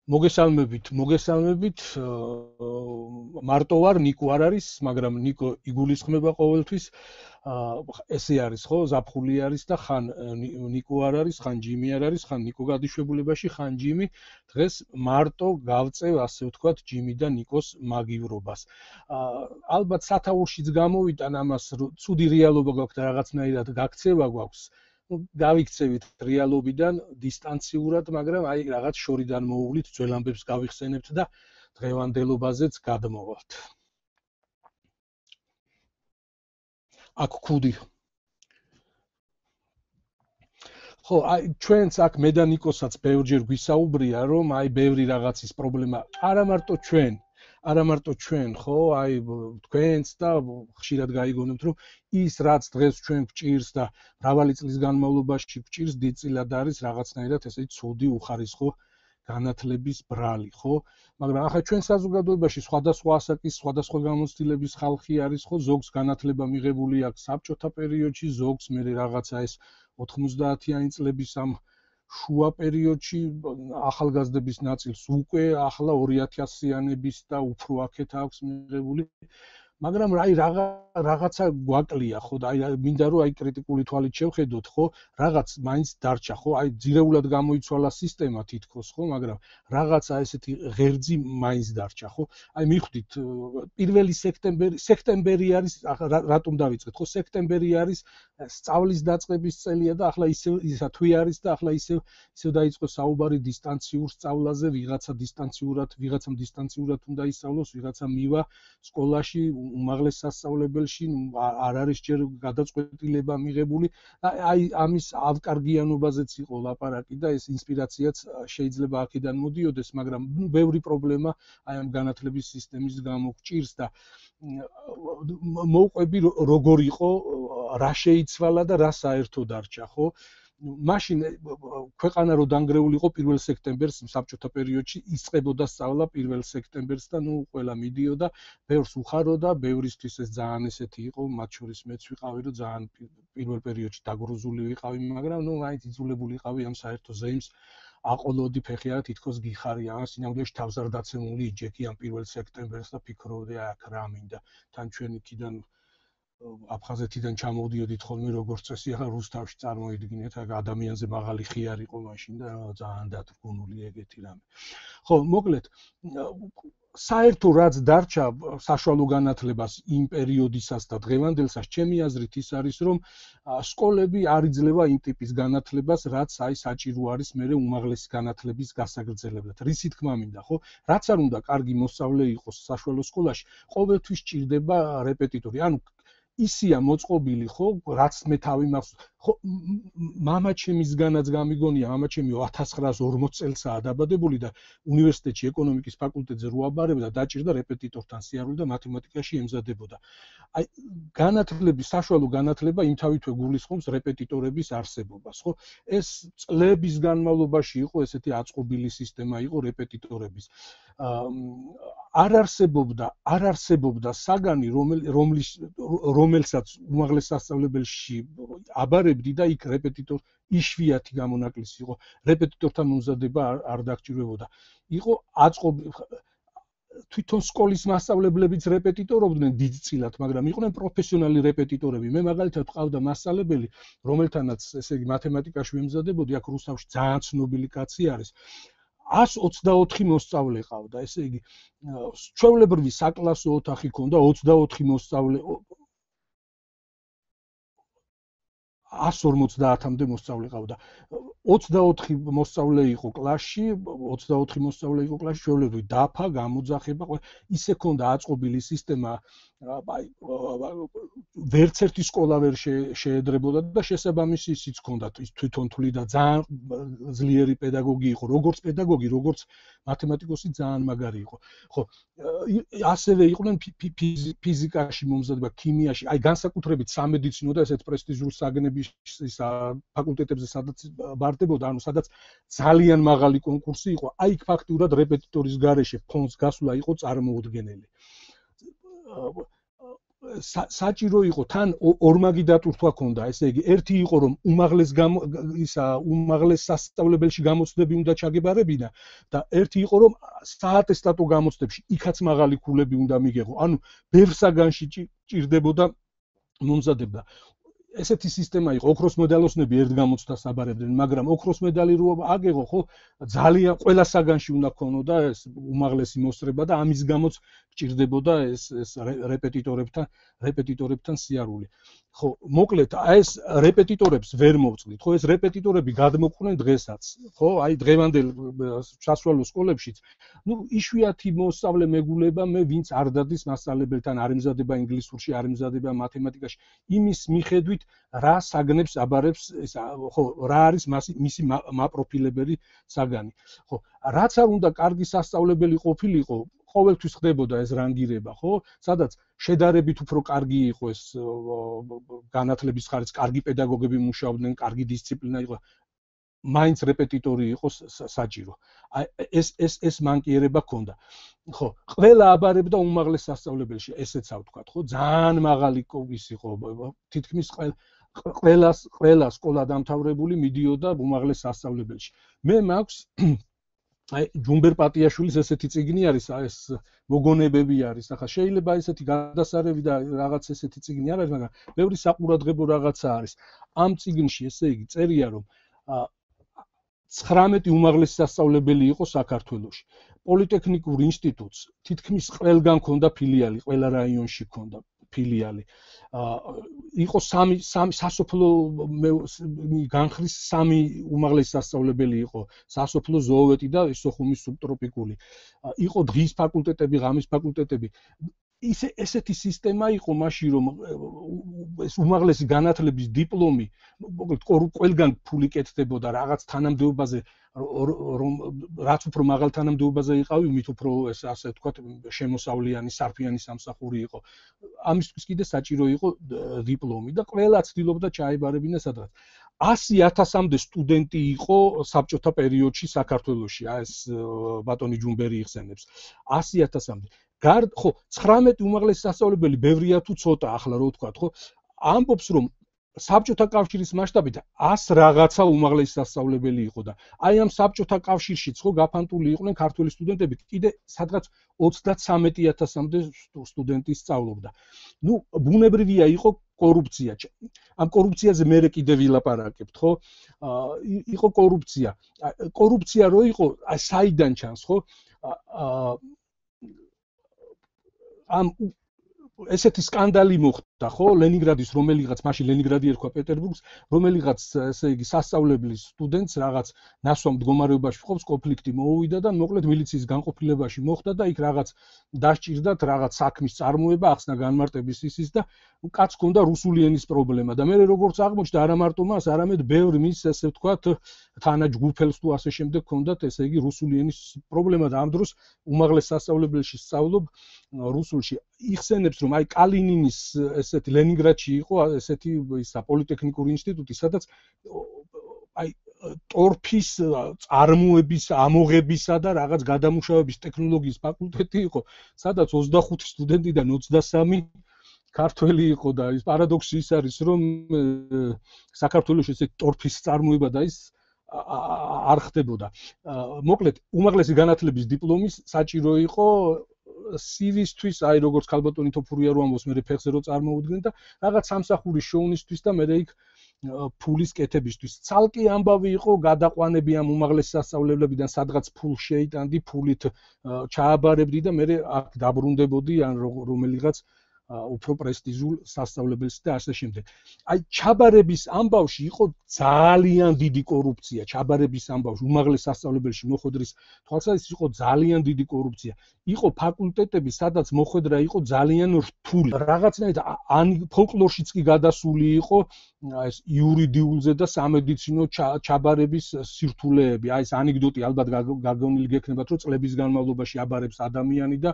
მოგესალმებით, მარტო ვარ, ნიკო არ არის, მაგრამ ნიკო იგულისხმება ყოველთვის. ესე არის, ხო, ზაფხული არის და ხან ნიკო არ არის, ხან ჯიმი არ არის, ხან ნიკო გადაშვებულებაში, ხან ჯიმი. დღეს მარტო გავწევ, ასე ვთქვათ, ჯიმი და ნიკოს მაგივრობას. ალბათ სათაურშიც გამოვიტან ამას, ცუდი რეალობა გვაქვს და რაღაცნაირად გაქცევა გვაქვს. გავიქცევით რეალობიდან დისტანციურად, მაგრამ აი რაღაც შორიდან მოუვლით, ძველ ამბებს გავიხსენებთ და დღევანდელობაზეც გადმოვალთ. აქ ქუდი. ხო, აი ჩვენც აქ მე და ნიკოსაც ბევრჯერ გვისაუბრია, რომ აი ბევრი რაღაცის პრობლემა, არა მარტო ჩვენ, ხო, აი თქვენც და ხშირად გაიგონებთ, რომ ის რაც დღეს ჩვენ გვჭირს და მრავალი წლის განმავლობაში გვჭირს, დიდწილად არის რაღაცნაირად ესე ცუდი უხარისხო განათლების ბრალი, ხო? მაგრამ ახლა ჩვენ საზოგადოებაში სხვადასხვა ასაკის, სხვადასხვა გამოცდილების ხალხი არის, ხო? ზოგს განათლება მიღებული აქვს საბჭოთა პერიოდში, ზოგს მე რაღაცა ეს 90-იანი წლების ამ შუა პერიოდში, ახალგაზრდების ნაწილს უკვე ახლა 2000-იანების და უფრო აქეთ აქვს მიღებული. მაგრამ აი რაღაცა გვაკლია, ხო, და აი მინდა რომ აი კრიტიკული თვალით შევხედოთ, ხო, რაღაც მაინც დარჩა, ხო, აი ძირეულად გამოიცვალა სისტემა თითქოს, ხო, მაგრამ რაღაცა ესეთი ღერძი მაინც დარჩა, ხო? აი მივხვდით, 1 სექტემბერი არის, რატომ დავიწყეთ, ხო, სექტემბერი არის სწავლის დაწყების წელია და ახლა ისა თვე არის და ახლა ისევ დაიწყო საუბარი დისტანციურ სწავლაზე, ვიღაცამ დისტანციურად უნდა ისწავლოს, ვიღაცა მივა სკოლაში უმაღლეს სასწავლებელში, არ არის ჯერ გადაწყვეტილება მიღებული. აი ამის ავკარგიანობაზეც იყო ლაპარაკი და ეს ინსპირაციაც შეიძლება აქედან მოდიოდეს, მაგრამ ბევრი პრობლემა აი ამ განათლების სისტემის გამო გვჭირს და მოვყვები როგორ იყო, რა შეიცვალა და რა საერთო დარჩა, ხო? მაშინ ქვეყანა რო დანგრეული იყო 1 სექტემბერს საბჭოთა პერიოდში იწყებოდა სწავლა 1 სექტემბერს და ნუ ყველა მიდიოდა, ბევრს უხაროდა, ბევრისთვის ეს ძალიან ესეთი იყო, მათ შორის მეც ვიყავი, რომ ძალიან 1 პერიოდში დაგრუზული ვიყავი, მაგრამ ნუ მაინც იძულებული ვიყავი ამ საერთო ზეიმს აყოლოდი ფეხი არა თითქოს გიხარია, ამ სინამდვილეში თავს არ დაცემული იჯექი ამ 1 სექტემბერს და ფიქრობდი აქ რა მინდა. თან ჩვენ იქიდან აფხაზეთიდან ჩამოვდიოდით ხოლმე როგორც წესი, ახლა რუსთავში წარმოიდგინეთ, აქ ადამიანზე მაღალი ხიარ იყო მაშინ და ძალიან დათრგუნული ეგეთი რამე. ხო, მოკლედ, საერთო რაც დარჩა საშუალო განათლებას იმ პერიოდისას და დღევანდელსაც, ჩემი აზრით ის არის, რომ სკოლები არ იძლევა იმ ტიპის განათლებას, რაც აი საჭირო არის მერე უმაღლესი განათლების გასაგრძელებლად. რისი თქმა მინდა, ხო? რაც არ უნდა კარგი მოსწავლე იყოს საშუალო სკოლაში, ყოველთვის ჭირდება რეპეტიტორი. ანუ ისია მოწყობილი, ხო, რაც მე თავი მაქვს, ხო, მამაჩემისგანაც გამიგონია, მამაჩემი 1940 წელსაა დაბადებული და უნივერსიტეტში ეკონომიკის ფაკულტეტზე რო აბარებდა, დაჭირდა რეპეტიტორთან სიარული და მათემატიკაში ემზადებოდა. აი, საშუალო განათლება იმთავითვე გულისხმობს რეპეტიტორების არსებობას, ხო? ეს წლების განმავლობაში იყო ესეთი აწყობილი სისტემა იყო რეპეტიტორების. არ არსებობდა საგანი, რომელსაც უმაღლეს სასწავლებელში აბარებდი და იქ რეპეტიტორ იშვიათი გამონაკლისი იყო. რეპეტიტორთან მომზადება არ დაგჭირვებოდა. იყო თვითონ სკოლის მასწავლებლებიც რეპეტიტორობდნენ დიდწილად, მაგრამ იყვნენ პროფესიონალი რეპეტიტორები. მე მაგალითად ვყავდა მასწავლებელი, რომელთანაც ესე იგი მათემატიკაში ვემზადებოდი, აქ რუსთავში ძალიან ცნობილი კაცი არის. 124 მოსწავლე ყავდა, ესე იგი, ჩვეულებრივი საკლასო ოთახი ქონდა, 24 მოსწავლე 150-მდე მოსწავლე ყავდა. 24 მოსწავლე იყო კლასში, ჩვეულებრივი დაფა, გამოძახება, ისე ქონდა აწყობილი სისტემა, აი, ვერც ერთი სკოლა ვერ შეედრებოდა და შესაბამისი ისიც ქონდა, თვითონ თვლიდა ძალიან ძლიერი პედაგოგი იყო, როგორც პედაგოგი, როგორც მათემატიკოსი ძალიან მაგარი იყო. ხო, ასევე იყვნენ ფიზიკაში მომზადება, ქიმიაში, აი განსაკუთრებით სამედიცინო და ესეთ პრესტიჟულ საგნების ფაკულტეტებზე სადაც ბარდებოდა, ანუ სადაც ძალიან მაღალი კონკურსი იყო, აი იქ ფაქტურად რეპეტიტორის გარეშე ფონს გასვლა იყო წარმოუდგენელი. საჭირო იყო თან ორმაგი დატვირთვა ქონდა, ესე იგი, ერთი იყო რომ უმაღლეს სასწავლებელში გამოცდები უნდა ჩაგებარებინა და ერთი იყო რომ საატესტატო გამოცდებში იქაც მაღალი ქულები უნდა მიგეღო. ანუ ბევრ საგანში ჭირდებოდა მომზადება. ესეთი სისტემა იყო, ოქროს მედალოსნები ერთ გამოცდას აბარებდნენ, მაგრამ ოქროს მედალი რო აგეღო, ხო, ძალიან ყველა საგანში უნდა ქონოდა ეს უმაღლესი მოსწრება და ამის გამოც ჭირდებოდა ეს რეპეტიტორებთან სიარული. ხო, მოკლედ, ეს რეპეტიტორებს ვერ მოვწყდით, ხო, ეს რეპეტიტორები გადმოყვნენ დღესაც, ხო, აი დღევანდელ სასწავლო სკოლებშიც. ნუ იშვიათი მოსწავლე მეგულება მე ვინც არ დადის მასწავლებელთან, არ ემზადება ინგლისურში, არ ემზადება მათემატიკაში, იმის მიხედვით რა საგნებს აბარებს, ხო, რა არის მისი მაპროფილებელი საგანი. ხო, რაც არ უნდა კარგი სასწავლებელი ყოფილიყო, ყოველთვის ხდებოდა ეს რანგირება, ხო? სადაც შედარებით უფრო კარგი იყო ეს განათლების ხარჯს, კარგი პედაგოგები მუშაობდნენ, კარგი დისციპლინა იყო. მაინც რეპეტიტორი იყო საჭირო. ეს მანკიერება ჰქონდა. ხო, ყველა აბარებდა უმაღლეს სასწავლებელში, ესეც ავთქვათ, ხო? ძალიან მაღალი ის იყო, თითქმის ყველა სკოლა დამთავრებული მიდიოდა უმაღლეს სასწავლებელში. მე მაქვს აი ჯუმბერ პატიაშვილის ესეთი წიგნი არის, ეს მოგონებები არის. ახლა შეიძლება ესეთი გადასარევი და რაღაც ესეთი წიგნი არ არის, მაგრამ ბევრი საყურადღებო რაღაცა არის. ამ წიგნში ესე იგი წერია რომ 19 უმაღლესი სასწავლებელი იყო საქართველოში. პოლიტექნიკურ ინსტიტუტს თითქმის ყველგან ჰქონდა ფილიალი, ყველა რაიონში ჰქონდა ფილიალი. იყო სამი სასოფლო განხრის სამი უმაღლესი სასწავლებელი იყო, სასოფლო ზოოვეტი და სოხუმის სუბტროპიკული. იყო დღის ფაკულტეტები, ღამის ფაკულტეტები. ესეთი სისტემა იყო მაშინ რომ ეს უმაღლესი განათლების დიპლომი მოკლედ ყველგან ფული კეთდებოდა რაღაც თანამდებობაზე რომ რაც უფრო მაღალ თანამდებობაზე იყავი მით უფრო ეს ასე ვთქვათ შემოსავლიანი სარფიანი სამსახური იყო ამისთვის კიდე საჭირო იყო დიპლომი და ყველა ცდილობდა ჩაებარებინა სადღაც 100,000-მდე სტუდენტი იყო საბჭოთა პერიოდში საქართველოში ეს ბატონი ჯუმბერი იხსენებს 100,000-მდე ხო 19 უმაღლესი სასწავლებელი ბევრია თუ ცოტა ახლა რო ვთქვათ ხო ამბობს რომ საბჭოთა კავშირის მასშტაბით 100 რაღაცა უმაღლესი სასწავლებელი იყო და აი ამ საბჭოთა კავშირშიც ხო გაფანტული იყვნენ ქართველი სტუდენტები კიდე სადღაც 33,000-მდე სტუდენტი სწავლობდა. ნუ ბუნებრივია იყო კორუფცია. ამ კორუფციაზე მე კიდე ვილაპარაკებთ, ხო? იყო კორუფცია. კორუფცია რო იყო, აი საიდან ჩანს, ხო? ამ ესეთი სკანდალი მოხდა, ხო? ლენინგრადის რომელიღაც, მაშინ ლენინგრადი ერქვა პეტერბურგს, რომელიღაც, ესე იგი, სასწავლებლის სტუდენტს რაღაც ნასვამ მდგომარეობაში ყოფს, კონფლიქტი მოუვიდა და მოკლედ მილიციის განყოფილებაში მოხდა და იქ რაღაც დასჭირდათ, რაღაც საქმის წარმოება, ახსნა განმარტების ისის და კაც ჰქონდა რუსული ენის პრობლემა და მე როგორც აღმოჩნდა, არა მარტო მას, არამედ ბევრ მის, ესე ვთქვათ, თანაჯგუფელს თუ ასე შემდეგ ჰქონდათ, ესე იგი, რუსული ენის პრობლემა და ამ დროს უმაღლეს სასწავლებელში სწავლობ რუსულში. იხსენებს რომ აი კალინინის ესეთი ლენინგრადში იყო ესეთი ისა პოლიტექნიკური ინსტიტუტი სადაც აი ტორფის წარმოების ამოღებისა და რაღაც გადამუშავების ტექნოლოგიის ფაკულტეტი იყო სადაც 25 სტუდენტიდან 23 ქართველი იყო და ის პარადოქსი ის არის რომ საქართველოს ესეთი ტორფის წარმოება და ის არ ხდებოდა. მოკლედ უმაღლესი განათლების დიპლომის საჭირო იყო CV-ისთვის, აი როგორც ქალბატონი თოფურია რო ამბობს, მე ფეხზე რო წარმოუდგნენ და რაღაც სამსახურის შოუნისთვის და მე იქ ფულის კეთებისთვის. ცალკე ამბავი იყო გადაყვანები ამ უმაღლეს სასწავლებლებიდან, სადღაც ფულს შეიტანდი, ფულით ჩააბარებდი და მე აქ დაბრუნდებოდი ან რომელიღაც უფრო პრესტიჟულ სასწავლებელს და ასე შემდეგ. აი ჩაბარების ამბავში იყო ძალიან დიდი კორუფცია, ჩაბარების ამბავში უმაღლეს სასწავლებელში მოხვედრის თვალსაზრისით იყო ძალიან დიდი კორუფცია. იყო ფაკულტეტები, სადაც მოხვედრა იყო ძალიან რთული. რაღაცნაირად ფოლკლორშიც კი გადასული იყო ეს იურიდიულზე და სამედიცინო ჩაბარების სირთულეები. აი ეს ანეკდოტი ალბათ გაგონილი გექნებათ, რომ წლების განმავლობაში აბარებს ადამიანი და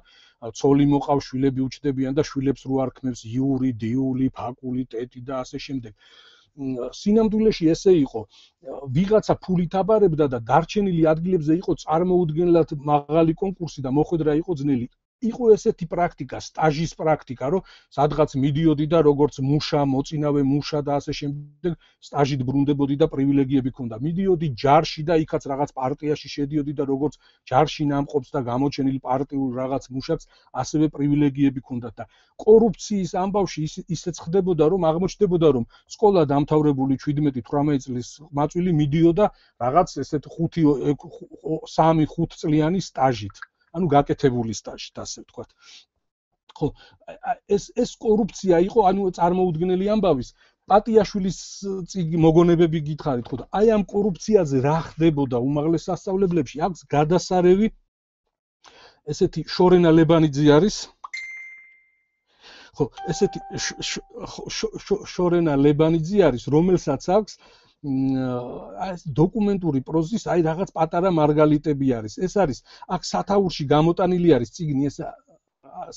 ცოლი მოყავს, შვილები უჩდებიან და შვილებს რო არ ქმნებს იურიდიული ფაკულტეტი და ასე შემდეგ. სინამდვილეში ესე იყო. ვიღაცა ფულით აბარებდა და დარჩენილი ადგილებზე იყო წარმოუდგენლად მაღალი კონკურსი და მოხვედრა იყო ძნელი. იყო ესეთი პრაქტიკა, სტაჟის პრაქტიკა, რომ სადღაც მიდიოდი და როგორც მუშა, მოწინავე მუშა და ასე შემდეგ სტაჟით ბრუნდებოდი და პრივილეგიები ჰქონდა. მიდიოდი ჯარში და იქაც რაღაც პარტიაში შედიოდი და როგორც ჯარში ნამყოფს და გამოჩენილ პარტიულ რაღაც მუშაკს ასევე პრივილეგიები ჰქონდა და კორუფციის ამბავში ისეც ხდებოდა, რომ აღმოჩნდებოდა, რომ სკოლა დამთავრებული 17-18 წლის მაწვილი მიდიოდა რაღაც ესეთ 3-5 წლიანი სტაჟით. ანუ გაკეთებული სტაჟით, ასე ვთქვათ. ხო, ეს კორუფცია იყო, ანუ წარმოუდგენელი ამბავის. პატიაშვილის მოგონებები გითხარით, ხო და აი ამ კორუფციაზე რა ხდებოდა უმაღლეს სასწავლებლებში? აქვს გადასარევი ესეთი შორენა ლებანიძე არის. ხო, ესეთი შორენა ლებანიძე არის, რომელსაც აქვს დოკუმენტური პროზის აი რაღაც პატარა მარგალიტები არის. ეს არის აქ სათაურში გამოტანილი არის წიგნი, ეს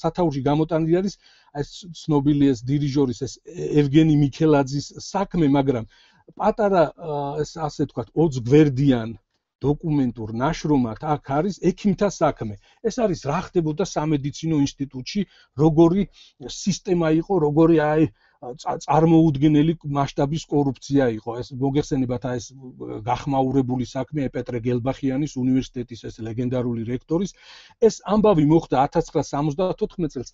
სათაურში გამოტანილი არის ეს ცნობილი ეს დირიჟორის ეს ევგენი მიქელაძის საქმე, მაგრამ პატარა ეს ასე ვთქვათ 20 გვერდიან დოკუმენტურ ნაშრომად აქ არის ექიმთა საქმე. ეს არის რა ხდებოდა სამედიცინო ინსტიტუტში, როგორი სისტემა იყო, როგორი აი წარმოუდგენელი მასშტაბის კორუფცია იყო. ეს მოგეხსენებათ აი ეს გახმაურებული საქმე პეტრე გელბახიანის უნივერსიტეტის ეს ლეგენდარული რექტორის. ეს ამბავი მოხდა 1974 წელს.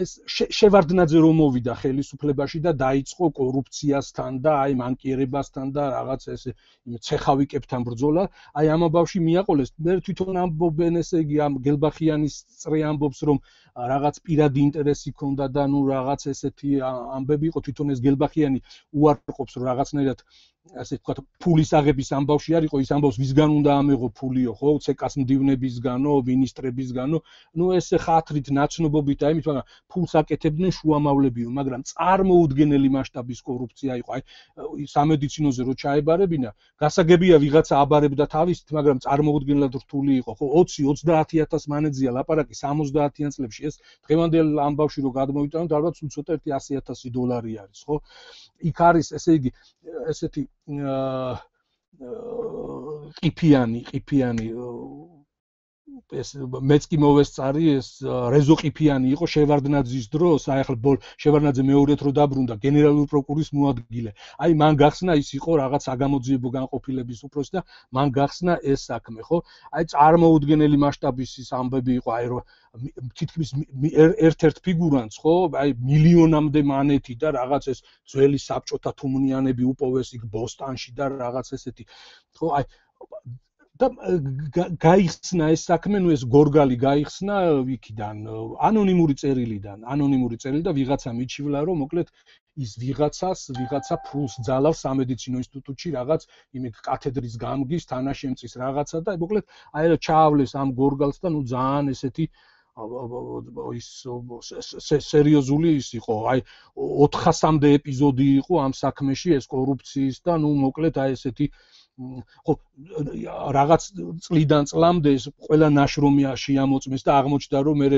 ეს შევარდნაძე რომ მოვიდა ხელისუფლებაში და დაიწყო კორუფციასთან და აი მანკიერებასთან და რაღაც ეს ცეხავიკებთან ბრძოლა. აი ამ ამბავში მიაყოლეს. მე თვითონ ამბობენ ესე იგი ამ გელბახიანის წრე ამბობს რომ რაღაც პირადი ინტერესი ჰქონდა და ნუ რაღაც ესეთი ამბები იყო თვითონ ეს გელბახიანი უარყოფს რომ რაღაცნაირად ასე ვთქვათ ფულის აღების ამბავში არისო ის ამბავს ვისგან უნდა ამეღო ფულიო ხო ცეკას მდივნებისგანო მინისტრებისგანო ნუ ეს ხათრით ნაცნობობით აი მით მაგრამ ფულს აკეთებდნენ შუამავლებიო მაგრამ წარმოუდგენელი მასშტაბის კორუფცია იყო აი სამედიცინოზე რო ჩაებარებინა გასაგებია ვიღაცა აბარებდა თავისით მაგრამ წარმოუდგენლად რთული იყო ხო 20-30000 მანეძია ლაპარაკი 70-იან წლებში ეს დღევანდელ ამბავში რო გადმოვიტანოთ ალბათ უცოტა $100,000 არის ხო იქ არის ესე იგი ესეთი ყიფიანი ეს მეც კი მოვესწარი ეს რეზო ყიფიანი იყო შევარდნაძის დროს აი ახლა შევარდნაძე მეორედ რო დაბრუნდა გენერალური პროკურორის მოადგილე აი მან გახსნა ის იყო რაღაც საგამოძიებო განყოფილების უფროსი და მან გახსნა ეს საქმე ხო აი წარმოუდგენელი მასშტაბის ის ამბები იყო აი რომ თითქმის ერთ-ერთ ფიგურანტს ხო აი მილიონამდე მანეთი და რაღაც ეს ძველი საბჭოთა თუმნიანები უპოვეს იქ ბოსტანში და რაღაც ესეთი ხო აი და გაიხსნა ეს საქმე, ნუ ეს გორგალი გაიხსნა იქიდან, ანონიმური წერილი და ვიღაცა მიჩივლა, რომ მოკლედ ის ვიღაცა ფულს ძალავს სამედიცინო ინსტიტუტში რაღაც იმით კათედრის გამგის, თანაშემწის რაღაცა და მოკლედ აი ჩაავლეს ამ გორგალს და ნუ ძალიან ესეთი ის სერიოზული ის იყო, აი 400-მდე ეპიზოდი იყო ამ საქმეში ეს კორუფციის და ნუ მოკლედ აი ესეთი ხო რაღაც წლიდან წლამდე ეს ყველა ნაშრომი შეამოწმეს და აღმოჩნდა რომ მე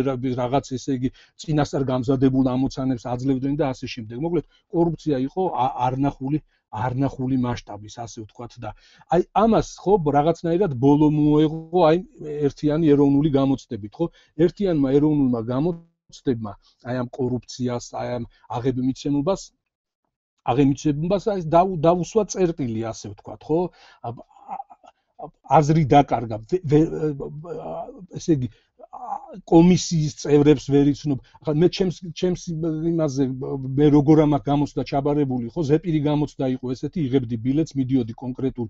რაღაც ესე იგი წინასწარ გამზადებულ ამოცანებს აძლევდნენ და ასე შემდეგ. მოკლედ კორუფცია იყო არნახული მასშტაბის ასე ვთქვათ და აი ამას ხო რაღაცნაირად ბოლო მოეღო აი ერთიანი ეროვნული გამოცდებით ხო ერთიანმა ეროვნულმა გამოცდებმა აი ამ კორუფციას აი ამ აღემიცნებას აი დაუსვა წერტილი ასე ვთქვათ ხო აზრი დაკარგა ესე იგი კომისიის წევრებს ვერ იცნობ ახლა მე ჩემს იმაზე მე როგორ ამას გამოცდა ჩაბარებული ხო ზეპირი გამოცდა იყო ესეთი იღებდი ბილეთს მიდიოდი კონკრეტულ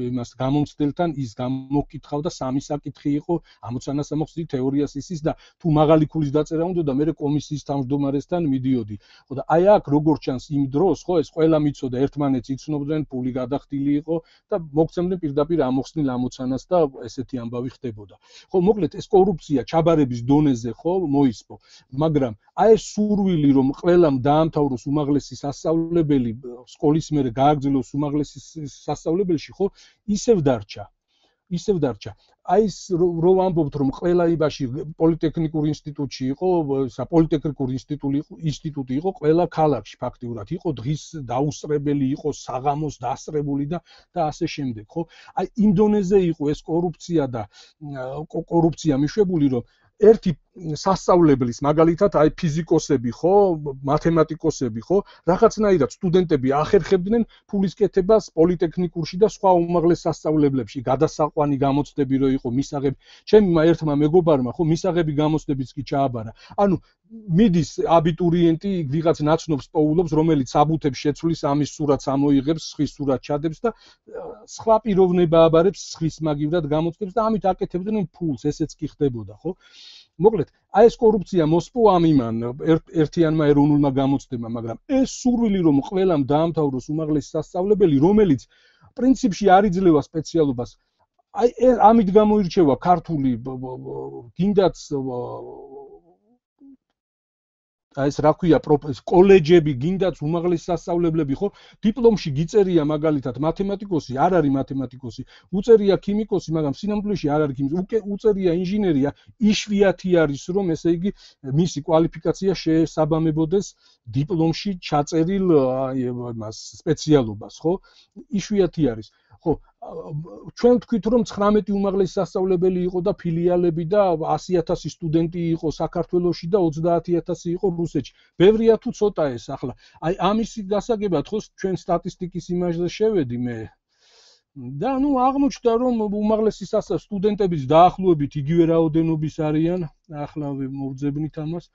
იმას გამომცდელთან ის გამოკითხავდა სამი საკითხი იყო ამოცანას ამოხსნი თეორიას ისის და თუ მაღალი ქულის დაწერა უნდა და მე კომისიის თავმჯდომარესთან მიდიოდი ხო და აი აქ როგორ ჩანს იმ დროს ხო ეს ყველა მიცოდა ერთმანეთს იცნობდნენ ფული გადახდილი იყო და მოგცემდნენ პირდაპირ ამოხსნილ ამოცანას და ესეთი ამბავი ხდებოდა ხო მოკლედ ეს კორუფცია ჩაბარების დონეზე ხო მოისპო მაგრამ აი ეს სურვილი რომ ყველამ დაამთავროს უმაღლესი სასწავლებელი სკოლის მერე გააგრძელოს უმაღლესი სასწავლებელში ხო ისევ დარჩა აი ეს რო ამბობთ რომ ყველა იბაში პოლიტექნიკურ ინსტიტუტში იყო პოლიტექნიკური ინსტიტუტი იყო ყველა ქალაქში ფაქტიურად იყო დღის დაუსწრებელი იყო საღამოს დასწრებული და ასე შემდეგ ხო აი იმ დონეზე იყო ეს კორუფცია მიშვებული რომ ერთი სასწავლებლის მაგალითად აი ფიზიკოსები ხო, მათემატიკოსები ხო, რაღაცნაირად სტუდენტები ახერხებდნენ ფულის კეთებას პოლიტექნიკურში და სხვა უმაღლეს სასწავლებლებში, გადასაყვანი გამოცდები რო იყო მისაღები. ჩემმა ერთმა მეგობარმა ხო მისაღები გამოცდებიც კი ჩააბარა. ანუ მიდის აბიტურიენტი ვიღაც ნაცნობს პოულობს, რომელიც საბუთებს შეცვლის, ამის სურათს ამოიღებს, სხვის სურათს ჩადებს და სხვა პიროვნება აბარებს, სხვის მაგივრად გამოცდებს და ამით აკეთებდნენ ფულს, ესეც კი ხდებოდა, ხო? მოკლედ, აი ეს კორუფცია მოსპო ამ იმან ერთიანმა ეროვნულმა გამოცდებამ, მაგრამ ეს სურვილი რომ ყველამ დაამთავროს უმაღლესი სასწავლებელი, რომელიც პრინციპში არ იძლევა სპეციალობას, აი ამით გამოირჩევა ქართული გინდაც აი ეს რა ქვია კოლეჯები, გინდაც უმაღლესი სასწავლებლები ხო, დიპლომში გიწერია მაგალითად მათემატიკოსი, არ არის მათემატიკოსი, უწერია ქიმიკოსი, მაგრამ სინამდვილეში არ არის ქიმიკოსი, უწერია ინჟინერია, იშვიათი არის რომ ესე იგი მისი კვალიფიკაცია შეესაბამებოდეს დიპლომში ჩაწერილ იმას სპეციალობას, ხო? იშვიათი არის. ხო, ჩვენ ვთქვით რომ 19 უმაღლესი სასწავლებელი იყო და ფილიალები და 100,000 სტუდენტი იყო საქართველოში და 30,000 იყო რუსეთში. ბევრია თუ ცოტა ეს ახლა. აი ამის გასაგებად ხო ჩვენ სტატისტიკის იმაჟზე შევედი მე. და ნუ აღმოჩნდა რომ უმაღლესი სტუდენტების დაახლოებით იგივე რაოდენობის არიან. ახლა მოვძებნით ამას.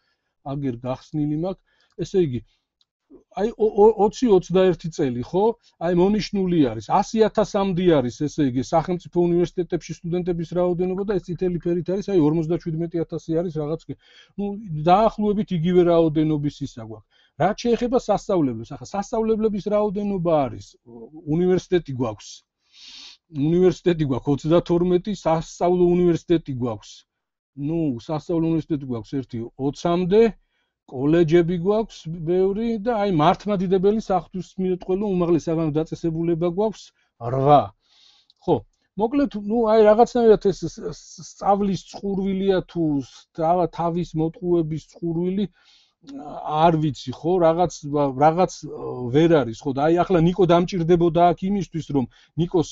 აგერ გახსნილი მაქვს. ესე იგი აი 20-21 წელი ხო? აი მონიშნული არის 100,000-მდე არის ესე იგი სახელმწიფო უნივერსიტეტებში სტუდენტების რაოდენობა და ეს წითელი ფერით არის აი 57,000 არის რაღაც. ნუ დაახლოებით იგივე რაოდენობის ისა გვაქვს. რაც შეეხება სასწავლებლებს, ახლა სასწავლებლების რაოდენობა არის უნივერსიტეტი გვაქვს. უნივერსიტეტი გვაქვს 32, სასწავლო უნივერსიტეტი გვაქვს. ნუ სასწავლო უნივერსიტეტი გვაქვს ერთი 20-მდე. კოლეჯები გვაქვს ბევრი და აი მართლმადიდებელი საღვთისმეტყველო უმაღლესი საგანო დაწესებულება გვაქვს 8. ხო, მოკლედ, ნუ აი რაღაცნაირად ეს სწავლის წყურვილია თუ თავის მოტყუების წყურვილი არ ვიცი ხო, რაღაც ვერ არის ხო და აი ახლა ნიკო დამჭირდებოდა აქ იმისთვის რომ ნიკოს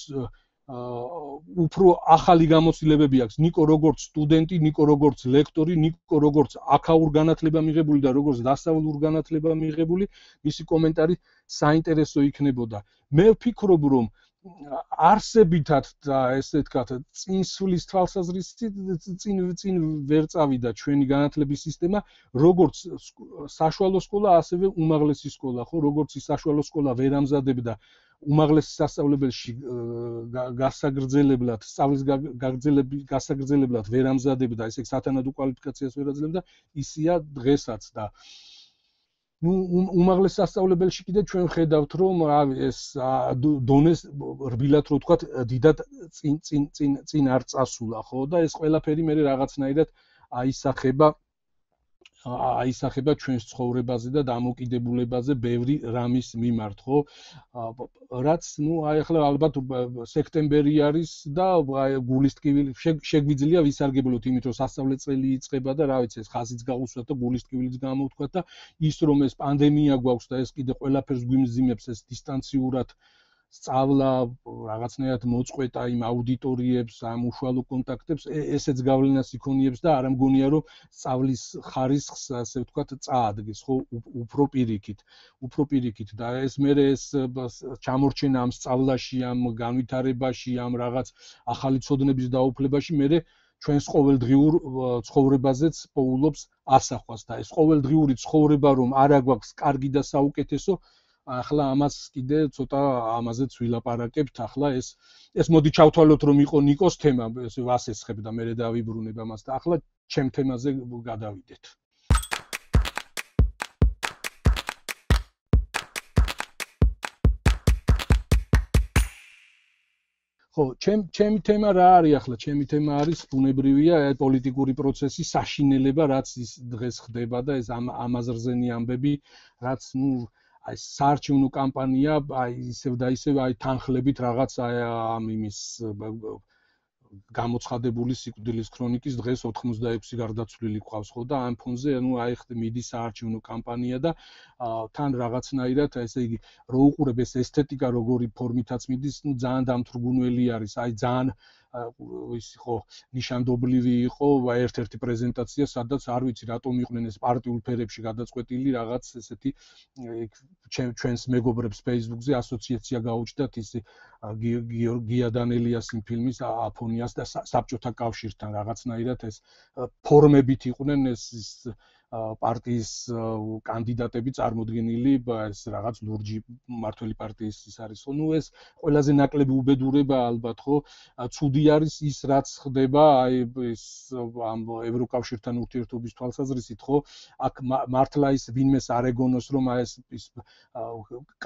უფრო ახალი გამოცდილებები აქვს ნიკო როგორც სტუდენტი, ნიკო როგორც ლექტორი, ნიკო როგორც აქაურ განათლება მიღებული და როგორც დასავლურ განათლება მიღებული, მისი კომენტარი საინტერესო იქნებოდა. მე ვფიქრობ რომ არსებითად და ესე ვთქვათ, წინსვლის თვალსაზრისით წინ ვერ წავიდა ჩვენი განათლების სისტემა, როგორც საშუალო სკოლა, ასევე უმაღლესი სკოლა, ხო, როგორც ის საშუალო სკოლა ვერ ამზადებდა უმაღლესი სასწავლებელში გასაგრძელებლად, სწავლის გასაგრძელებლად ვერ ამზადებდა, ესე იგი სათანადო კვალიფიკაციას ვერ აძლევდა, ისია დღესაც და ნუ უმაღლეს სასწავლებელში კიდე ჩვენ ვხედავთ რომ ეს დონეს რბილად რო ვთქვათ, დიდად წინ არ წასულა, ხო და ეს ყველაფერი მე რაღაცნაირად აისახება ჩვენს ცხოვრებაზე და დამოკიდებულებაზე ბევრი რამის მიმართ, ხო? რაც ნუ აი ახლა ალბათ სექტემბერი არის და გულის ტკივილი შეგვიძლია ვისარგებლოთ იმით რომ სასწავლე წელი იწყება და რა ვიცი ეს ხაზიც გაუსვათ და გულის ტკივილიც გამოვთქვათ და ის რომ ეს პანდემია გვაქვს და ეს კიდე ყველაფერს გვიმძიმებს ეს დისტანციურად სწავლა რაღაცნაირად მოწყვეტა იმ აუდიტორიებს, ამ უშუალო კონტაქტებს, ესეც გავლენას იქონიებს და არ მგონია რომ სწავლის ხარისხს, ასე ვთქვათ, წაადგეს, ხო, უფრო პირიქით და ეს მერე ეს ჩამორჩენა ამ სწავლაში, ამ განვითარებაში, ამ რაღაც ახალი ცოდნების დაუფლებაში მერე ჩვენს ყოველდღიურ ცხოვრებაზეც პოულობს ასახვას და ეს ყოველდღიური ცხოვრება რომ არა გვაქვს კარგი და საუკეთესო ახლა ამას კიდე ცოტა ამაზეც ვილაპარაკებთ. ახლა ეს მოდი ჩავთვალოთ რომ იყო ნიკოს თემა, ესე ვასესხებ და მე დავიბრუნებ ამას და ახლა ჩემ თემაზე გადავიდეთ. ხო, ჩემი თემა რა არის ახლა? ჩემი თემა არის ბუნებრივია პოლიტიკური პროცესის საშინელება, რაც ის დღეს ხდება და ეს ამაზრზენი ამბები, რაც ნუ აი საარჩევნო კამპანია, აი ისევ და ისევ აი თანხლებით რაღაც ამ იმის გამოცხადებული სიკვდილის ქრონიკის დღეს 86 გარდაცვლილი ყავს ხო და ამ ფონზე ნუ აი მიდის საარჩევნო კამპანია და თან რაღაცნაირად ესე იგი რო უყურებ ეს ესთეტიკა როგორი ფორმითაც მიდის, ნუ ძალიან დამთრგუნველი არის, აი ძალიან ის იყო ნიშანდობლივი იყო ერთ-ერთი პრეზენტაცია, სადაც არ ვიცი რატომ იყვნენ ეს პარტიულ ფერებში გადაწყვეტილი რაღაც ესეთი ჩვენს მეგობრებს Facebook-ზე ასოციაცია გაუჩნდათ ის გია დანელიას იმ ფილმის აფონიას და საბჭოთა კავშირთან რაღაცნაირად ეს ფორმებით იყვნენ ეს პარტიის კანდიდატები წარმოდგენილი ეს რაღაც ლურჯი მართველი პარტიის ის არის ხო ნუ ეს ყველაზე ნაკლები უბედურება ალბათ ხო ცუდი არის ის რაც ხდება აი ეს ამ ევროკავშირთან ურთიერთობის თვალსაზრისით ხო აქ მართლა ის ვინმეს არ ეგონოს რომ ეს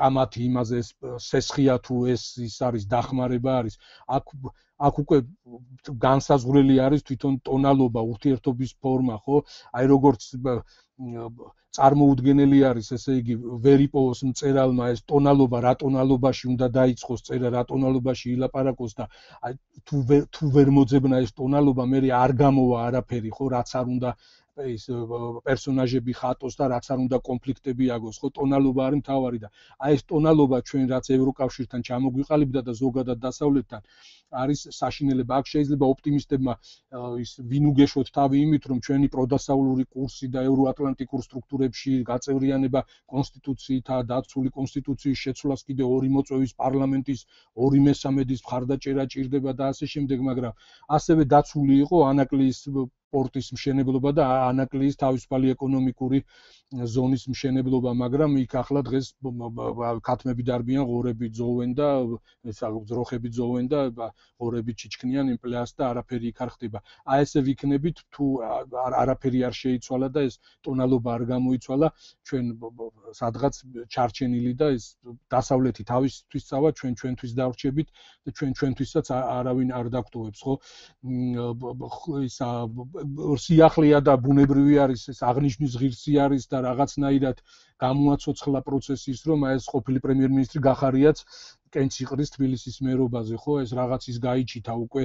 კამათი იმაზე ეს სესხია თუ ეს არის დახმარება არის აქ უკვე განსაზღვრელი არის თვითონ ტონალობა, ურთიერთობის ფორმა, ხო? აი როგორც წარმოუდგენელი არის, ესე იგი, ვერ იპოვოს მწერალმა ეს ტონალობა, რა ტონალობაში უნდა დაიწყოს წერა, რა ტონალობაში ილაპარაკოს და აი თუ ვერ მოძებნა ეს ტონალობა, მე არ გამოვა არაფერი, ხო, რაც არ უნდა ეს პერსონაჟები ხატოს და რაც არ უნდა კონფლიქტები აგოს, ხო, ტონალობა არის მთავარი და აი ეს ტონალობა ჩვენ რაც ევროკავშირთან ჩამოგვიყალიბდა და ზოგადად დასავლეთთან არის საშინელება. აქ შეიძლება ოპტიმისტებმა ის ვინ უგეშოთ თავი იმით, რომ ჩვენი პროდასავლური კურსი და ევროატლანტიკურ სტრუქტურებში გაწევრიანება კონსტიტუციითაა დაცული კონსტიტუციის შეცვლას კიდე 2 მოწვევის პარლამენტის 2/3 მხარდაჭერა ჭირდება და ასე შემდეგ, მაგრამ ასევე დაცული იყო ანაკლიის პორტის მშენებლობა და ანაკლიის თავისუფალი ეკონომიკური ზონის მშენებლობა, მაგრამ იქ ახლა დღეს ქათმები დარბიან, ღორები ძოვენ და ძროხები ძოვენ და ღორები ჩიჩქნიან იმპლეას და არაფერი იქ არ ხდება. აი ესე ვიქნებით თუ არაფერი არ შეიცვალა და ეს ტონალობა არ გამოიცვალა, ჩვენ სადღაც ჩარჩენილი და ეს დასავლეთი თავისთვის წავა, ჩვენ ჩვენთვის დავრჩებით და ჩვენ ჩვენთვისაც არავინ არ დაგტოვებს, ხო? ისა სიახლეა და ბუნებრივი არის ეს აღნიშნის ღირსი არის და რაღაცნაირად გამოაცოცხლა პროცესის რომ ეს ყოფილი პრემიერ-მინისტრი გახარიაც კენც იყრის თბილისის მერობაზე ხო ეს რაღაცის გაიჩითა უკვე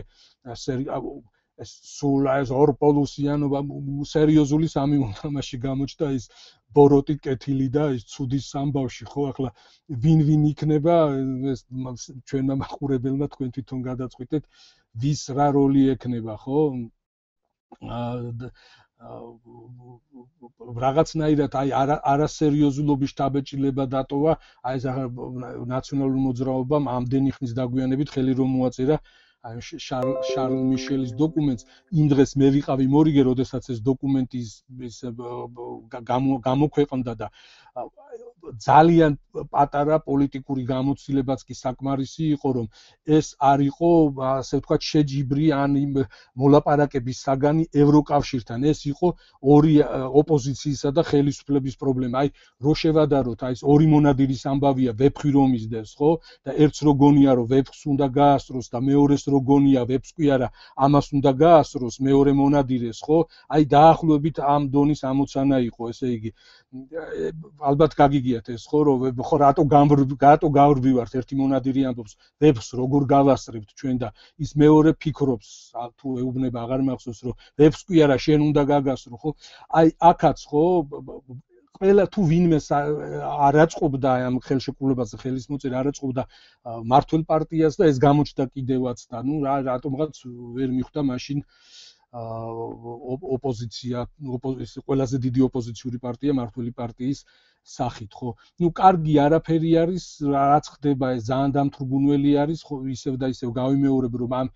ეს სულ ეს ორპოლუსიანობა სერიოზული სამი მომთამაში გამოჩნდა ის ბოროტი კეთილი და ის ცუდის სამბავში ხო ახლა ვინ იქნება ეს ჩვენმა მაყურებელმა თქვენ თვითონ გადაწყვიტეთ ვის რა როლი ექნება ხო რაღაცნაირად აი არასერიოზულობის შთაბეჭდილება დატოვა აი ეს ნაციონალურ მოძრაობამ ამდენი ხნის დაგვიანებით ხელი რომ მოაწერა აი შარლ მიშელის დოკუმენტს იმ დღეს მე ვიყავი მორიგე როდესაც ეს დოკუმენტი გამოქვეყნდა და ძალიან პატარა პოლიტიკური გამოცდილებაც კი საკმარისი იყო რომ ეს არ იყო ასე ვთქვათ შეჯიბრი ან იმ მოლაპარაკების საგანი ევროკავშირთან ეს იყო ორი ოპოზიციისა და ხელისუფლების პრობლემა აი რო შევადაროთ აი ეს ორი მონადირის ამბავია ვეფხვი რომ ისდევს ხო და ერთს რო გონია რომ ვეფხვს უნდა გაასწროს და მეორეს რო გონია ვეფხვს კი არა ამას უნდა გაასწროს მეორე მონადირეს ხო აი დაახლოებით ამ დონის ამოცანა იყო ესე იგი ალბათ გაგიგიათ ეს ხო რომ ხო რატო გავრბივართ ერთი მონადირი ამბობს ვეფხვს როგორ გავასწრებთ ჩვენ და ის მეორე ფიქრობს თუ ეუბნება აღარ მახსოვს რომ ვეფხვს კი არა შენ უნდა გაგასწრო ხო აი აქაც ხო ყველა თუ ვინმე არ აწყობდა ამ ხელშეკრულებაზე ხელის მოწერა არ აწყობდა მართლ პარტიას და ეს გამოჩნდა კიდევაც და ნუ რატომღაც ვერ მიხვდა მაშინ ოპოზიცია ეს ყველაზე დიდი ოპოზიციური პარტია მართლი პარტიის სახით ხო ნუ კარგი არაფერი არის რაც ხდება ეს ძალიან დამთრგუნველი არის ხო ისევ და ისევ გავიმეორებ რომ ამ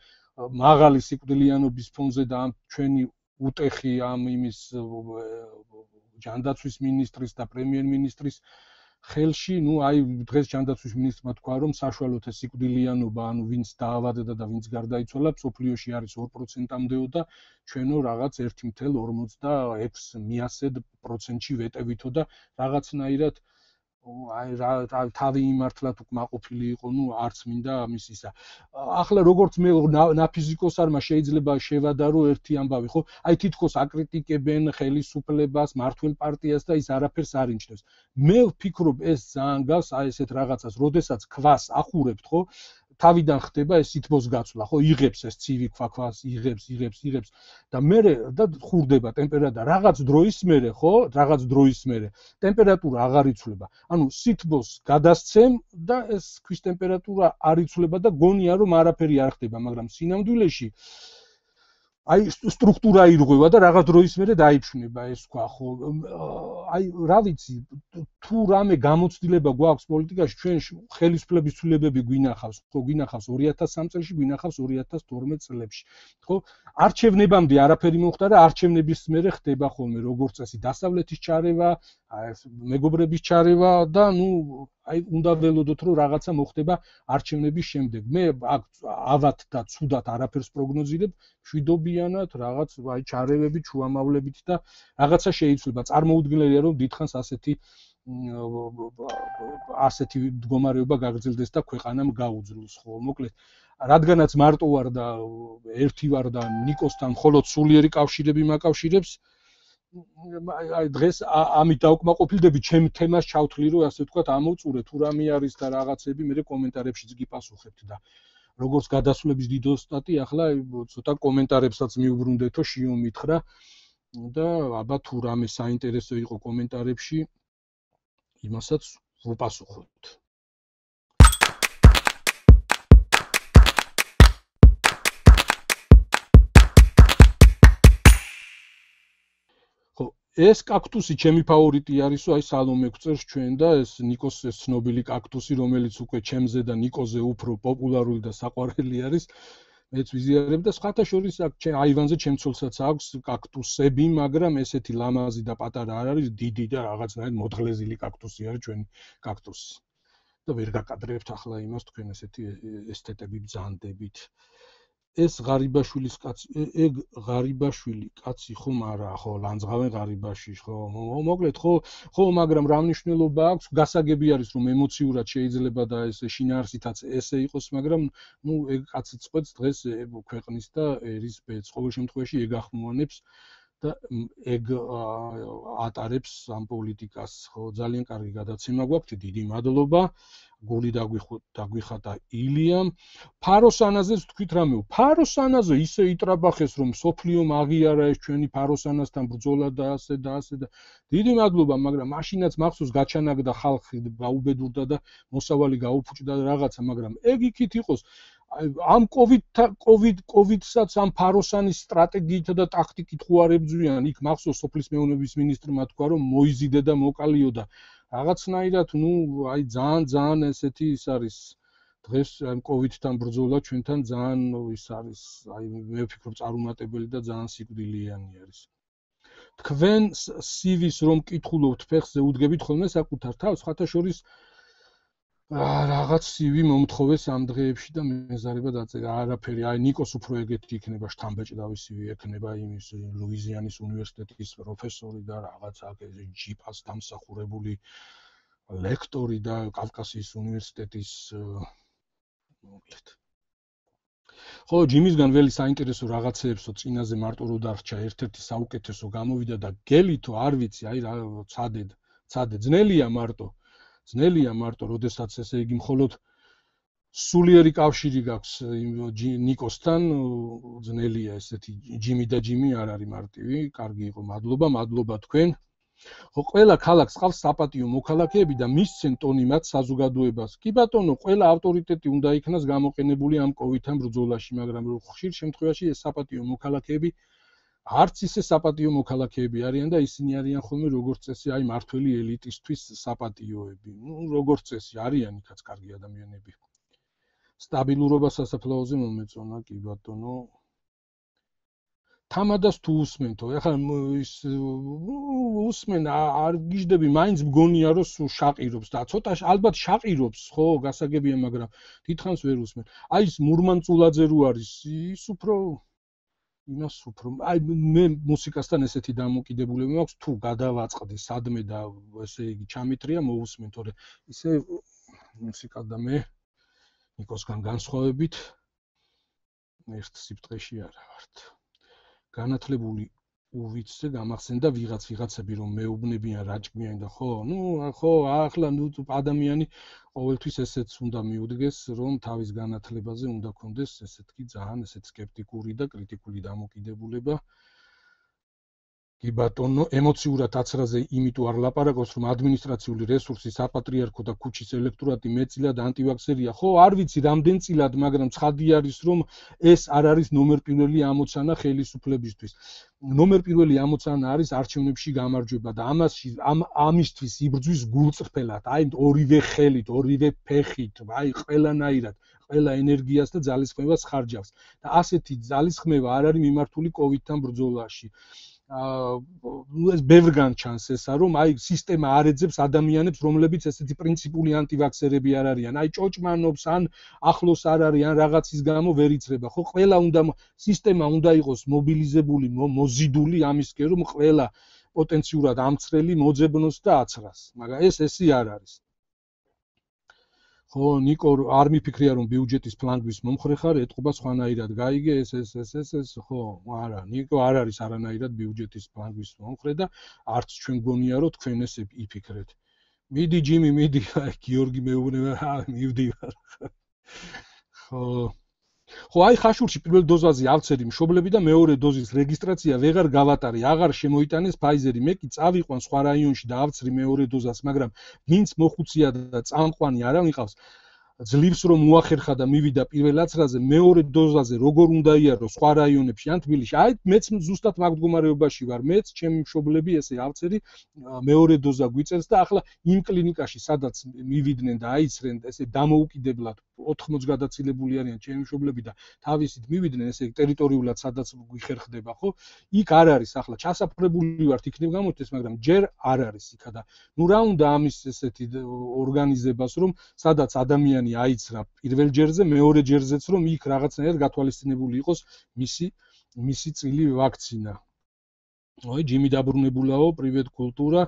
მაღალი სიკვდილიანობის ფონზე და ამ ჩვენი უტეხი ამ იმის ჯანდაცვის მინისტრის და პრემიერ-მინისტრის ხელში, ნუ აი დღეს ჯანდაცვის მინისტრმა თქვა რომ საშუალოდ ეს სიკვდილიანობა, ანუ ვინც დაავადდა და ვინც გარდაიცვალა, სოფლიოში არის 2%-მდეო და ჩვენო რაღაც 1.56%-ში ვეტევითო და რაღაცნაირად აი თავი იმართლად უკმაყოფილი იყო, ნუ არც მინდა ამის ისა. ახლა როგორც მე ნაფიზიკოსარმა შეიძლება შევადარო ერთი ამბავი, ხო? აი თითქოს აკრიტიკებენ ხელისუფლებას, მართლ პარტიას და ის არაფერს არ ინჩნევს. მე ვფიქრობ ეს ძალიან გავს აი ესეთ რაღაცას, როდესაც ქვას ახურებთ, ხო? თავიდან ხდება ეს სითბოს გაცვლა, ხო, იღებს ეს ცივი ქვაქვას, იღებს და მე და ხურდება ტემპერატურა რაღაც დროის მერე, ხო, რაღაც დროის მერე ტემპერატურა აღარ იცვლება. ანუ სითბოს გადასცემ და ეს ქვის ტემპერატურა არ იცვლება და გონია რომ არაფერი არ ხდება, მაგრამ სინამდვილეში აი სტრუქტურა ირღვევა და რაღაც დროის მერე დაიფშნება ეს თქვა ხო აი რა ვიცი თუ რამე გამოცდილება გვაქვს პოლიტიკაში ჩვენ ხელისუფლების ცვლილებები გვინახავს ხო გვინახავს 2003 წელს გვინახავს 2012 წლებში ხო არჩევნებამდე არაფერი მომხდარა არჩევნების მერე ხდება ხოლმე როგორც წესი დასავლეთის ჩარევა მეგობრების ჩარევა და ნუ აი უნდა ველოდოთ რომ რაღაცა მოხდება არჩევნების შემდეგ მე ავად და ცუდად არაფერს პროგნოზირებ შვიდობიანად რაღაც აი ჩარევებით შუამავლებით და რაღაცა შეიცვლება წარმოუდგენელია რომ დიდხანს ასეთი მდგომარეობა გაგრძელდეს და ქვეყანამ გაუძლოს ხო მოკლედ რადგანაც მარტო ვარ და ერთი ვარ და ნიკოსთან მხოლოდ სულიერი კავშირები მაკავშირებს აი დღეს ამით დავკმაყოფილდები ჩემ თემას ჩავთვლი რომ ასე ვთქვათ ამოვწურე თუ რამე არის და რაღაცები მე კომენტარებშიც გიპასუხებთ და როგორც გადასვლების დიდოსტატი ახლა ცოტა კომენტარებსაც მიუბრუნდეთო შიო მითხრა და აბა თუ რამე საინტერესო იყო კომენტარებში იმასაც ვუპასუხოთ ეს კაქტუსი ჩემი ფავორიტი არისო აი სალომე გვწერს ჩვენ და ეს ნიკოს ეს ცნობილი კაქტუსი რომელიც უკვე ჩემზე და ნიკოზე უფრო პოპულარული და საყვარელი არის მეც ვიზიარებ და სხვათა შორის აქ აივანზე ჩემცოლსაც აქვს კაქტუსები მაგრამ ესეთი ლამაზი და პატარა არ არის დიდი და რაღაცნაირად მოთხლეზილი კაქტუსი არის ჩვენი კაქტუსი და ვერ გაკადრებთ ახლა იმას თქვენ ესეთი ესთეტები ბრძანდებით ეს ღარიბაშვილის კაცი ეგ ღარიბაშვილი კაცი ხომ არა ხო ლანძღავენ ღარიბაში ხო მოკლედ ხო მაგრამ რა მნიშვნელობა აქვს გასაგები არის რომ ემოციურად შეიძლება და ეს შინაარსითაც ესე იყოს მაგრამ ნუ ეგ კაცი წყვეტს დღეს ქვეყნის და ერის ბედს ყოველ შემთხვევაში ეგ ახმოვანებს და ეგ ატარებს ამ პოლიტიკას ხო ძალიან კარგი გადაცემა გვაქვს დიდი მადლობა გული დაგვიხატა ილიამ ფაროსანაზეც თქვით რამეო ფაროსანაზე ისე იტრაბახეს რომ სოფლიომ აღიარა ეს ჩვენი ფაროსანასთან ბრძოლა და ასე და დიდი მადლობა მაგრამ მაშინაც მახსოვს გაჩანაგდა ხალხი გაუბედურდა და მოსავალი გაუფუჭდა და რაღაცა მაგრამ ეგ იქით იყოს ამ კოვიდსაც ამ ფაროსანის სტრატეგიით და ტაქტიკით ხო არ ებძვიან იქ მახსოვს სოფლის მეურნეობის მინისტრმა თქვა რომ მოიზიდე და მოკალიო და რაღაცნაირად ნუ აი ძალიან ესეთი ის არის დღეს ამ კოვიდთან ბრძოლა ჩვენთან ძალიან ის არის აი მე ვფიქრობ წარუმატებელი და ძალიან სიკვდილიანი არის თქვენ CV-ს რომ კითხულობთ ფეხზე უდგებით ხოლმე საკუთარ თავს ხათა შორის რაღაც CV მომთხოვეს ამ დღეებში და მეზარება დაწერა არაფერი აი ნიკოს უფრო ეგეთი იქნება შთამბეჭდავი CV ექნება იმის ლუიზიანის უნივერსიტეტის პროფესორი და რაღაც აქ ჯიპას დამსახურებული ლექტორი და კავკასიის უნივერსიტეტის მოკლედ ხო ჯიმისგან ველი საინტერესო რაღაცეებსო წინაზე მარტო რო დარჩა ერთ-ერთი საუკეთესო გამოვიდა და გელითო არ ვიცი აი რა ცადე ძნელია მარტო როდესაც ესე იგი მხოლოდ სულიერი კავშირი გაქვს ნიკოსთან ძნელია ესეთი ჯიმი და ჯიმი არ არის მარტივი კარგი იყო მადლობა თქვენ ხო ყველა ქალაქს ყავს საპატიო მოქალაქეები და მისცენ ტონი მათ საზოგადოებას კი ბატონო ყველა ავტორიტეტი უნდა იქნას გამოყენებული ამ კოვიდთან ბრძოლაში მაგრამ ხშირ შემთხვევაში ეს საპატიო მოქალაქეები არც ისე საპატიო მოქალაქეები არიან და ისინი არიან ხოლმე როგორც წესი აი მართველი ელიტისთვის საპატიოები ნუ როგორც წესი არიან იქაც კარგი ადამიანები სტაბილურობა სასაფლაოზე მომეწონა კი ბატონო თამადას თუ უსმენთო ეხლა ის უსმენ არ გიждები მაინც მგონია რომ შაყირობს და ცოტა ალბათ შაყირობს ხო გასაგებია მაგრამ დიდხანს ვერ უსმენ აი ის მურმანწულაძე რო არის ის უფრო იმას უფრო აი მე მუსიკასთან ესეთი დამოკიდებულება მაქვს თუ გადავაწყდი სადმე და ესე იგი ჩამიტრია მოусმენ თორე ისე მუსიკა და მე ნიკოსგან განსხვავებით ერთ სიფტყეში არა ვართ განათლებული უვიცე გამახსენდა ვიღაცები რომ მეუბნებიან რაჭკბიან და ხო ახლა ადამიანი ყოველთვის ესეც უნდა მიუდგეს რომ თავის განათლებაზე უნდა კონდეს ესეთკი ძალიან ესეთ სკეპტიკური და კრიტიკული დამოკიდებულება კი ბატონო ემოციურად აცრაზე იმიტომ არ ლაპარაკობს რომ ადმინისტრაციული რესურსი საპატრიარქო და ქუჩის ელექტორატი მეტწილად ანტივაქსერია ხო არ ვიცი რამდენ წილად მაგრამ ცხადი არის რომ ეს არ არის ნომერ პირველი ამოცანა ხელისუფლებისთვის ნომერ პირველი ამოცანა არის არჩევნებში გამარჯვება და ამისთვის იბრძვის გულწრფელად აი ორივე ხელით ორივე ფეხით აი ყველანაირად ყველა ენერგიას და ძალისხმევას ხარჯავს და ასეთი ძალისხმევა არ არის მიმართული კოვიდთან ბრძოლაში ეს ბევრგან ჩანს ესა რომ აი სისტემა არ ეძებს ადამიანებს რომლებიც ესეთი პრინციპული ანტივაქსერები არ არიან აი ჭოჭმანობს ან ახლოს არ არის ან რაღაცის გამო ვერ იცრება ხო ყველა უნდა სისტემა უნდა იყოს მობილიზებული მოზიდული ამისკენ რომ ყველა პოტენციურად ამცრელი მოძებნოს და აცრას მაგრამ ესე არ არის ხო ნიკო არ მიფიქრია რომ ბიუჯეტის ფლანგვის მომხრე ხარ ეთყობა სხვანაირად გაიგე ეს ხო არა ნიკო არ არის არანაირად ბიუჯეტის ფლანგვის მომხრე და არც ჩვენ გონია რომ თქვენ ესე იფიქრეთ მიდი ჯიმი მიდი გიორგი მეუბნება მივდივარ ხო აი ხაშურში პირველ დოზაზე ავცერი მშობლები და მეორე დოზის რეგისტრაცია ვეღარ გავატარე აღარ შემოიტანეს ფაიზერი მე კი წავიყვან სხვა რაიონში და ავცრი მეორე დოზას მაგრამ ვინც მოხუცია და წამყვანი არა მიყავს ძლივს რომ უახერხა და მივიდა პირველ აცრაზე მეორე დოზაზე როგორ უნდა იარო სხვა რაიონებში ან თბილისში აი მეც ზუსტად მაგ მდგომარეობაში ვარ მეც ჩემი მშობლები ესე ავცერი მეორე დოზა გვიწერს და ახლა იმ კლინიკაში სადაც მივიდნენ და აიცრენ ესე დამოუკიდებლად 80 გადაცილებული არიან ჩემი მშობლები და თავისით მივიდნენ ესე ტერიტორიულად სადაც გვიხერხდება ხო იქ არ არის ახლა ჩასაფრებული ვართ იქნებ გამოჩნდეს მაგრამ ჯერ არ არის იქა და ნუ რა უნდა ამის ესეთი ორგანიზებას რომ სადაც ადამიანი აიცრა პირველ ჯერზე მეორე ჯერზეც რომ იქ რაღაცნაირად გათვალისწინებული იყოს მისი წილი ვაქცინა. ой ჯიმი დაბრუნებულაო პრივეტ კულტურა.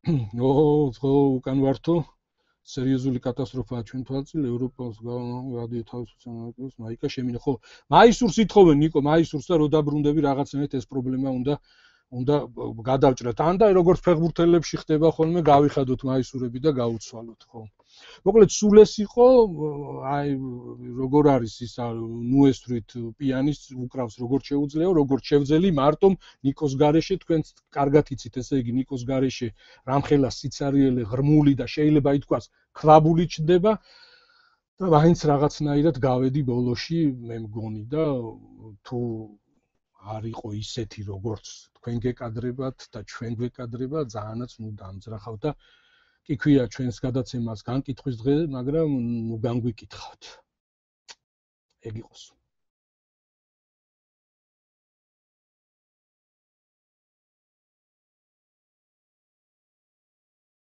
ხო უკან ვართო სერიოზული კატასტროფაა ჩვენ თვალწინ ევროპას გადიო თავისუფლად ამერიკას მაიკა შემინა ხო მაისურს ითხოვენ ნიკო მაისურს და რო დაბრუნდები რაღაცნაირად ეს პრობლემა უნდა გადავჭრათ ან და როგორც ფეხბურთელებში ხდება ხოლმე გავიხადოთ მაისურები და გაუცვალოთ ხო მოკლედ სულ ეს იყო აი როგორ არის ის ნუესტრით პიანის უკრავს როგორ შეუძლეო როგორ შევძელი მარტო ნიკოს გარეშე თქვენ კარგად იცით ესე იგი ნიკოს გარეშე რამხელა სიცარიელე ღრმული და შეიძლება ითქვას ქვაბული ჩდება და მაინც რაღაცნაირად გავედი ბოლოში მე მგონი და თუ არ იყო ისეთი როგორც თქვენ გეკადრებათ და ჩვენ გვეკადრება ძალიანაც ნუ დამძრახავ და კი ქვია ჩვენს გადაცემას განკითხვის დღე მაგრამ ნუ განგვიკითხავთ ეგ იყოს